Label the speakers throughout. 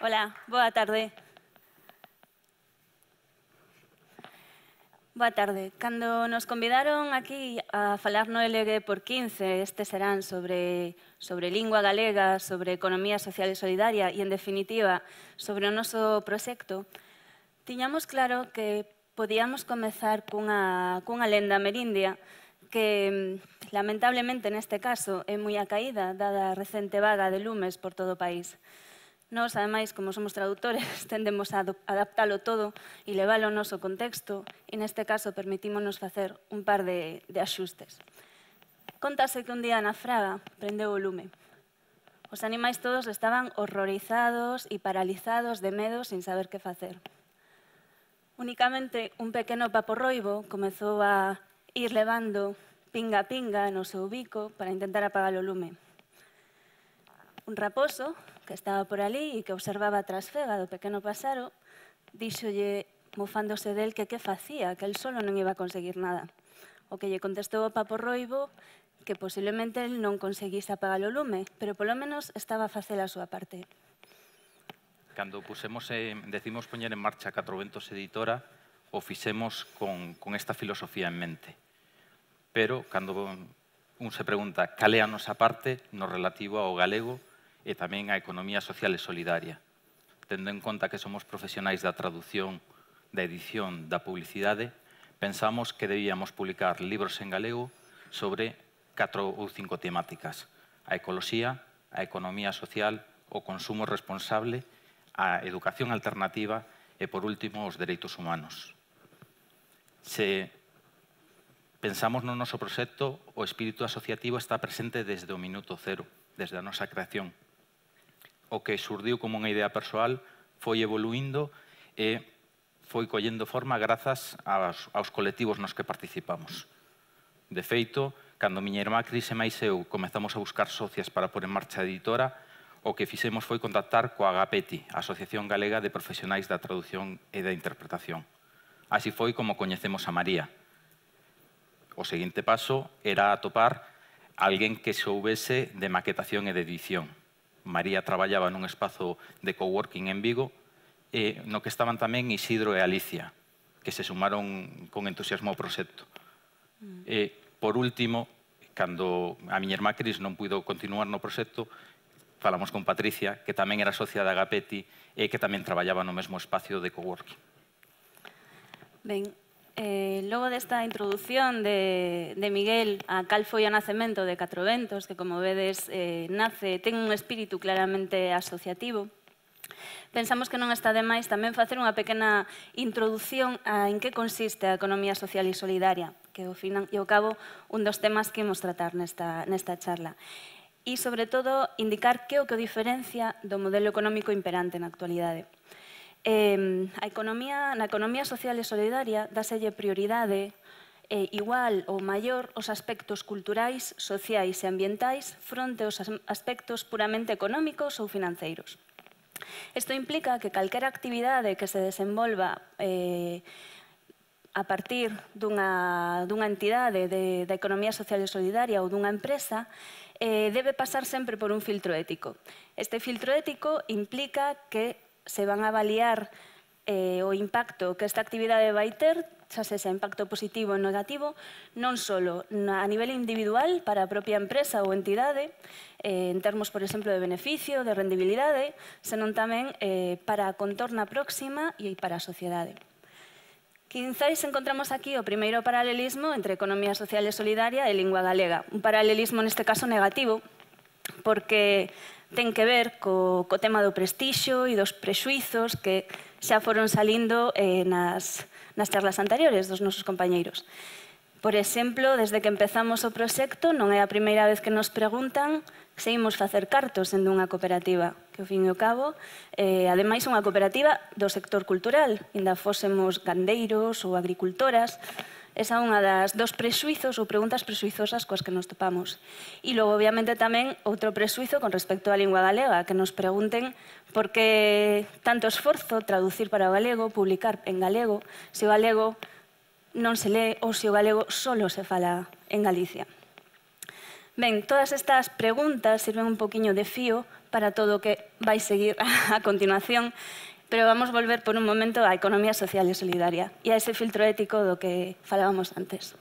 Speaker 1: Hola, boa tarde. Boa tarde. Cando nos convidaron aquí a falar no LG por 15, estes serán sobre lingua galega, sobre economía social e solidaria e, en definitiva, sobre o noso proxecto, tiñamos claro que podíamos comezar cunha lenda amerindia que, lamentablemente, neste caso, é moi acaída, dada a recente vaga de lumes por todo o país. Nós, ademais, como somos traductores, tendemos a adaptalo todo e leválo ao noso contexto e, neste caso, permitímonos facer un par de axustes. Contase que un día na Fraga prendeu o lume. Os animais todos estaban horrorizados e paralizados de medo sin saber que facer. Únicamente un pequeno paporroibo comezou a ir levando pinga a pinga no seu bico para intentar apagar o lume. Un raposo que estaba por ali e que observaba a trasfega do pequeno pasaro, díxolle, mofándose del, que facía, que el solo non iba a conseguir nada. O que lle contestou o paporroibo que posiblemente el non conseguise apagar o lume, pero polo menos estaba a facer a súa parte.
Speaker 2: Cando decimos poñer en marcha Catro Ventos Editora, o fixemos con esta filosofía en mente. Pero, cando un se pregunta cal é a nosa parte no relativo ao galego e tamén á economía social e solidaria, tendo en conta que somos profesionais da traducción, da edición, da publicidade, pensamos que debíamos publicar libros en galego sobre 4 ou 5 temáticas: a ecoloxía, a economía social, o consumo responsable, a educación alternativa e, por último, os dereitos humanos. Se pensamos no noso proxecto, o espírito asociativo está presente desde o minuto cero, desde a nosa creación. O que xurdiu como unha idea persoal foi evoluindo e foi collendo forma grazas aos colectivos nos que participamos. De feito, cando miña irmá Cris e máis eu comezamos a buscar socias para pôr en marcha a editora, o que fixemos foi contactar coa Agapeti, a Asociación Galega de Profesionais da Traducción e da Interpretación. Así foi como coñecemos a María. O seguinte paso era atopar alguén que soubese de maquetación e de edición. María traballaba nun espazo de coworking en Vigo, no que estaban tamén Isidro e Alicia, que se sumaron con entusiasmo ao proxecto. Por último, cando a miña irmá Cris non puido continuar no proxecto, falamos con Patricia, que tamén era socia da Agapeti e que tamén traballaba no mesmo espacio de coworking.
Speaker 1: Ben, logo desta introdución de Miguel a cal foi o nacemento de Catro Ventos, que, como vedes, ten un espírito claramente asociativo, pensamos que non está de máis tamén facer unha pequena introducción a en que consiste a economía social e solidaria, que, ao fin e ao cabo, un dos temas que imos tratar nesta charla. E, sobre todo, indicar que é o que o diferencia do modelo económico imperante na actualidade. Na economía social e solidaria dáselle prioridade igual ou maior aos aspectos culturais, sociais e ambientais fronte aos aspectos puramente económicos ou financeiros. Isto implica que calquera actividade que se desenvolva a partir dunha entidade da economía social e solidaria ou dunha empresa debe pasar sempre por un filtro ético. Este filtro ético implica que se van a avaliar o impacto que esta actividade vai ter, xa sexa impacto positivo ou negativo, non só a nivel individual para a propia empresa ou entidade, en termos, por exemplo, de beneficio, de rendibilidade, senón tamén para a contorna próxima e para a sociedade. Quizais encontramos aquí o primeiro paralelismo entre economía social e solidaria e lingua galega. Un paralelismo, neste caso, negativo, porque ten que ver co tema do prestixio e dos prexuizos que xa foron salindo nas charlas anteriores dos nosos compañeiros. Por exemplo, desde que empezamos o proxecto, non é a primeira vez que nos preguntan se imos facer cartos en dunha cooperativa, que, ao fin e ao cabo, ademais, unha cooperativa do sector cultural, ainda fósemos gandeiros ou agricultoras. Esa é unha dos prexuizos ou preguntas prexuizosas coas que nos topamos. E logo, obviamente, tamén outro prexuizo con respecto á lingua galega, que nos pregunten por que tanto esforzo traducir para o galego, publicar en galego, se o galego non se lee ou se o galego solo se fala en Galicia. Ben, todas estas preguntas sirven un poquinho de fío para todo o que vai seguir a continuación, pero vamos volver por un momento á economía social e solidaria e a ese filtro ético do que falábamos antes.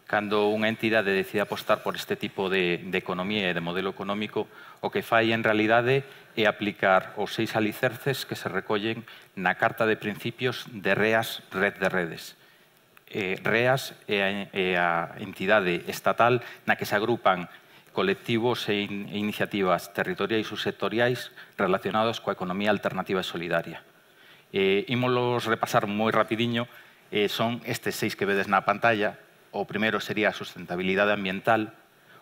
Speaker 2: Cando unha entidade decide apostar por este tipo de economía e de modelo económico, o que fai en realidade é aplicar os 6 alicerces que se recollen na Carta de Principios de REAS, Red de Redes. REAS é a entidade estatal na que se agrupan colectivos e iniciativas territoriais ou sectoriais relacionados coa economía alternativa e solidaria. Ímolos repasar moi rapidiño, son estes 6 que vedes na pantalla. O primeiro sería a sustentabilidade ambiental,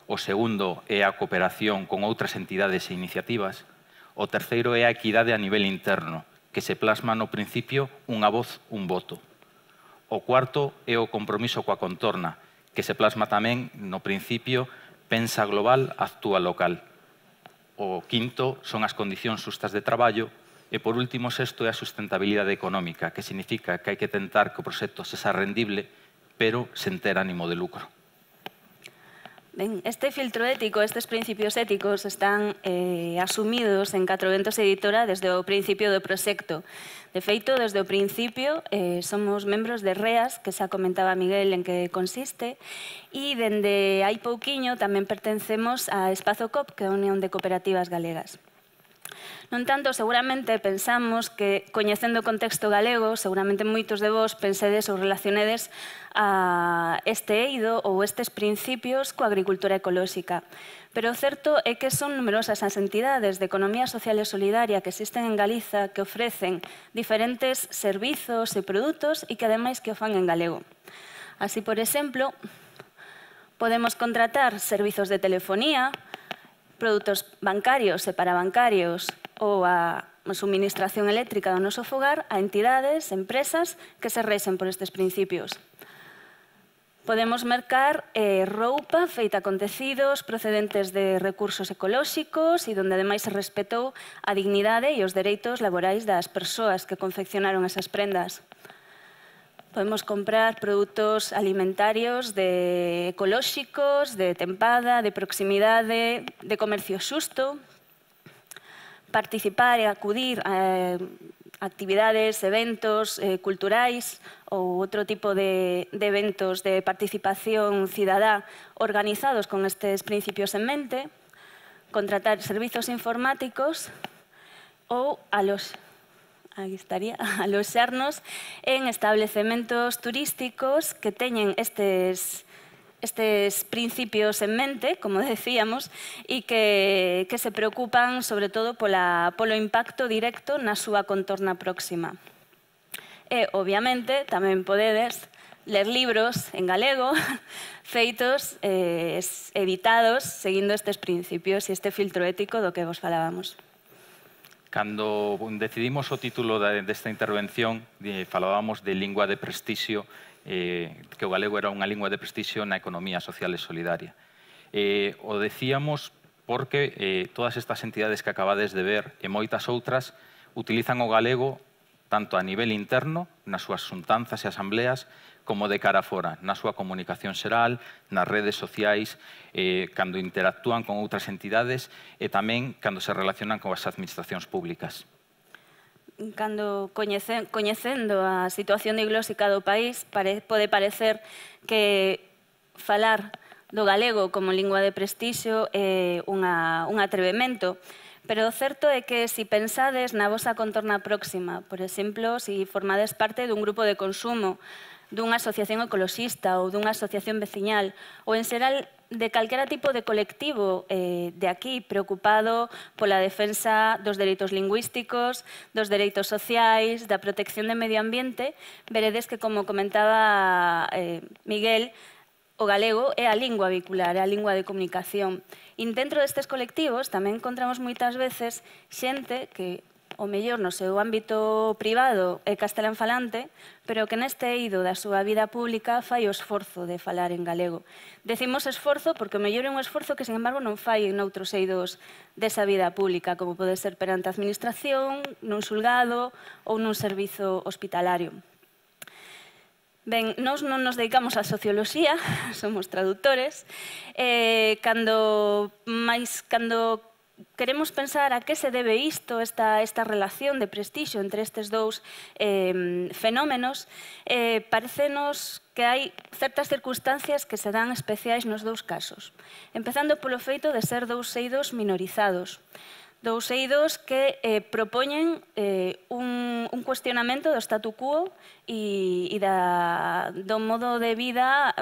Speaker 2: o segundo é a cooperación con outras entidades e iniciativas, o terceiro é a equidade a nivel interno, que se plasma no principio unha voz, un voto. O cuarto é o compromiso coa contorna, que se plasma tamén no principio pensa global, actúa local. O quinto son as condicións xustas de traballo e, por último, sexto é a sustentabilidade económica, que significa que hai que tentar que o proxecto sexa rendible, pero sen ter ánimo de lucro.
Speaker 1: Ben, este filtro ético, estes principios éticos están asumidos en Catro Ventos Editora desde o principio do proxecto. De feito, desde o principio somos membros de REAS, que xa comentaba Miguel en que consiste, e dende hai pouquiño tamén pertencemos a Espazo COP, que é a Unión de Cooperativas Galegas. Non tanto, seguramente pensamos que, coñecendo o contexto galego, seguramente moitos de vos pensedes ou relacionedes a este eido ou estes principios coa agricultura ecolóxica. Pero o certo é que son numerosas as entidades de economía social e solidaria que existen en Galiza que ofrecen diferentes servizos e produtos e que ademais que o fan en galego. Así, por exemplo, podemos contratar servizos de telefonía, produtos bancarios e parabancarios ou a suministración eléctrica do noso fogar a entidades, empresas que se rexen por estes principios. Podemos mercar roupa feita con tecidos procedentes de recursos ecolóxicos e donde ademais se respetou a dignidade e os dereitos laborais das persoas que confeccionaron esas prendas. Podemos comprar produtos alimentarios ecolóxicos, de tempada, de proximidade, de comercio xusto, participar e acudir a actividades, eventos culturais ou outro tipo de eventos de participación cidadá organizados con estes principios en mente, contratar servizos informáticos ou aloxarnos en establecementos turísticos que teñen estes principios en mente, como decíamos, e que se preocupan sobre todo polo impacto directo na súa contorna próxima. E, obviamente, tamén podedes ler libros en galego feitos, editados, seguindo estes principios e este filtro ético do que vos falábamos.
Speaker 2: Cando decidimos o título desta intervención, falábamos de lingua de prestixio, que o galego era unha lingua de prestixio na economía social e solidaria. O decíamos porque todas estas entidades que acabades de ver e moitas outras utilizan o galego tanto a nivel interno, nas súas xuntanzas e asambleas, como de cara fora, na súa comunicación xeral, nas redes sociais, cando interactúan con outras entidades e tamén cando se relacionan con as administracións públicas.
Speaker 1: Cando coñecendo a situación diglóxica do país, pode parecer que falar do galego como lingua de prestixio é un atrevemento, pero o certo é que se pensades na vosa contorna próxima, por exemplo, se formades parte dun grupo de consumo, dunha asociación ecoloxista ou dunha asociación veciñal, ou en xeral de calquera tipo de colectivo de aquí preocupado pola defensa dos dereitos lingüísticos, dos dereitos sociais, da protección do medio ambiente, veredes que, como comentaba Miguel, o galego é a lingua vehicular, é a lingua de comunicación. E dentro destes colectivos tamén encontramos moitas veces xente que o mellor no seu ámbito privado é castelán falante, pero que neste eido da súa vida pública fai o esforzo de falar en galego. Decimos esforzo porque o mellor é un esforzo que, sin embargo, non fai en outros eidos desa vida pública, como pode ser perante a administración, nun xulgado ou nun servizo hospitalario. Ben, nós non nos dedicamos á socioloxía, somos traductores, cando queremos pensar a que se debe isto, esta relación de prestixio entre estes dous fenómenos, parecenos que hai certas circunstancias que se dan especiais nos dous casos. Empezando polo feito de ser dous eidos minorizados. Dous eidos que propoñen un cuestionamento do statu quo e do modo de vida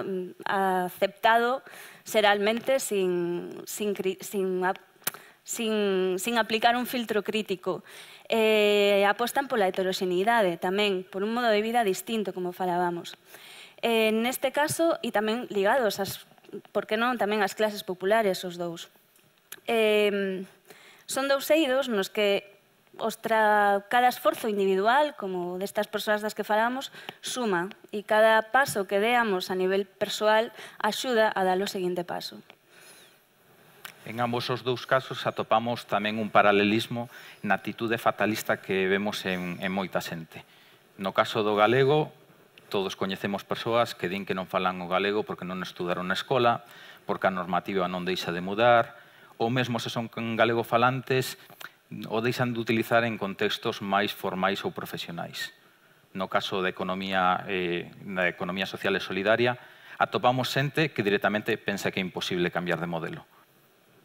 Speaker 1: aceptado xeralmente sin aplicar un filtro crítico. Apostan pola heteroxeneidade tamén, por un modo de vida distinto, como falábamos. Neste caso, e tamén ligados, por que non, tamén ás clases populares, os dous. Son dous eidos nos que cada esforzo individual, como destas persoas das que falamos, suma, e cada paso que deamos a nivel persoal axuda a dar o seguinte paso.
Speaker 2: En ambos os dous casos atopamos tamén un paralelismo na actitude fatalista que vemos en moita xente. No caso do galego, todos coñecemos persoas que din que non falan o galego porque non estudaron na escola, porque a normativa non deixa de mudar, ou mesmo se son galego falantes, o deixan de utilizar en contextos máis formais ou profesionais. No caso da economía social e solidaria, atopamos xente que directamente pensa que é imposible cambiar de modelo.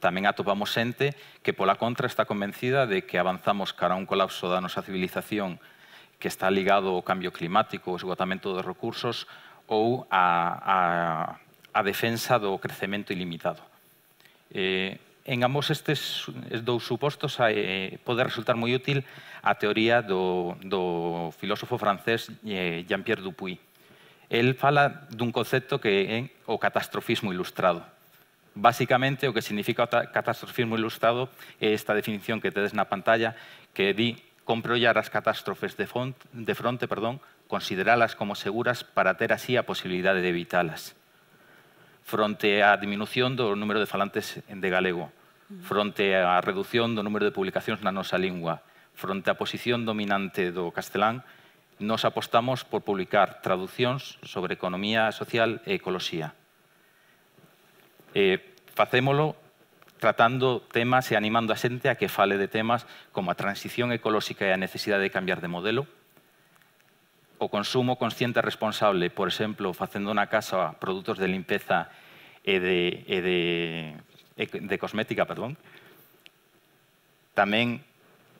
Speaker 2: Tamén atopamos xente que, pola contra, está convencida de que avanzamos cara a un colapso da nosa civilización que está ligado ao cambio climático, ao esgotamento dos recursos ou a defensa do crecemento ilimitado. En ambos estes dous supostos pode resultar moi útil a teoría do filósofo francés Jean-Pierre Dupuy. El fala dun concepto que é o catastrofismo ilustrado. Básicamente, o que significa o catastrofismo ilustrado é esta definición que tedes na pantalla que di compre ollar as catástrofes de fronte, consideralas como seguras para ter así a posibilidade de evitalas. Fronte á diminución do número de falantes de galego, fronte á reducción do número de publicacións na nosa lingua, fronte á posición dominante do castelán, nos apostamos por publicar traducións sobre economía social e ecoloxía. Facémolo tratando temas e animando a xente a que fale de temas como a transición ecolóxica e a necesidade de cambiar de modelo, o consumo consciente e responsable, por exemplo, facendo na casa produtos de limpeza e de cosmética, tamén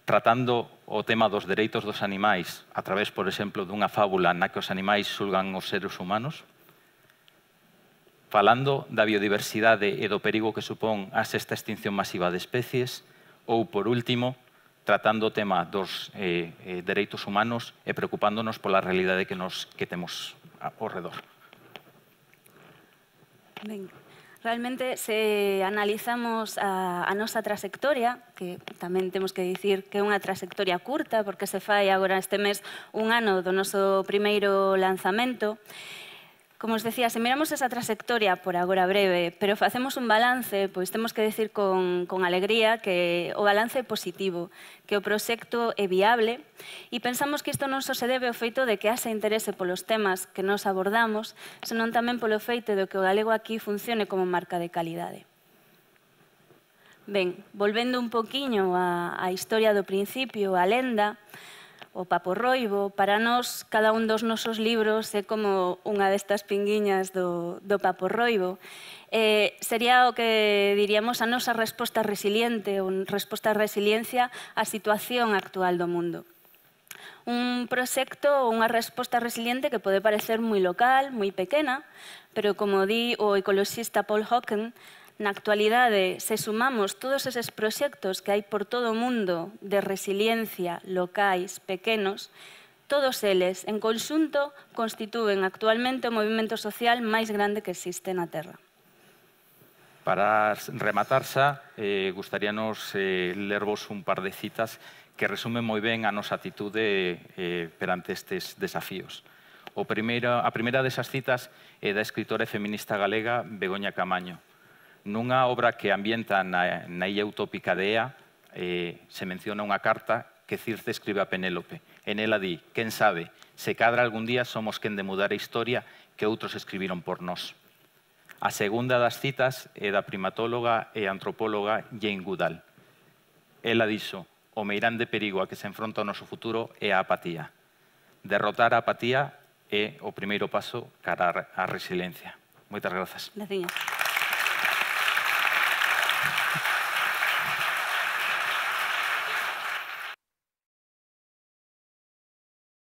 Speaker 2: tratando o tema dos dereitos dos animais a través, por exemplo, dunha fábula na que os animais xulgan os seres humanos, falando da biodiversidade e do perigo que supón a sexta extinción masiva de especies, ou, por último, tratando o tema dos dereitos humanos e preocupándonos pola realidade que temos ao redor.
Speaker 1: Ben, realmente, se analizamos a nosa trayectoria, que tamén temos que dicir que é unha trayectoria curta, porque se fai agora este mes un ano do noso primeiro lanzamento, como os decía, se miramos esa trayectoria por agora breve, pero facemos un balance, pois temos que decir con alegría que o balance é positivo, que o proxecto é viable e pensamos que isto non só se debe ao feito de que haxa interese polos temas que nos abordamos, senón tamén polo feito de que o galego aquí funcione como marca de calidade. Ben, volvendo un poquiño á historia do principio, a lenda, o paporroibo, para nós, cada un dos nosos libros é como unha destas pinguiñas do paporroibo. Sería o que diríamos a nosa resposta resiliente, ou resposta a resiliencia á situación actual do mundo. Un proxecto ou unha resposta resiliente que pode parecer moi local, moi pequena, pero como di o ecoloxista Paul Hawken, na actualidade, se sumamos todos eses proxectos que hai por todo o mundo de resiliencia locais, pequenos, todos eles, en conxunto, constitúen actualmente o movimento social máis grande que existe na Terra.
Speaker 2: Para rematar xa, gustaríanos lervos un par de citas que resumen moi ben a nosa atitude perante estes desafíos. A primeira desas citas é da escritora e feminista galega Begoña Camaño. Nunha obra que ambienta na illa utópica de Ea, se menciona unha carta que Circe escribe a Penélope. En ela di, quen sabe, se cadra algún día somos quen de mudar a historia que outros escribiron por nós. A segunda das citas é da primatóloga e antropóloga Jane Goodall. ela dixo, o meirande perigo a que se enfronta o noso futuro é a apatía. Derrotar a apatía é o primeiro paso cara á resiliencia. Moitas grazas.
Speaker 1: Graciñas.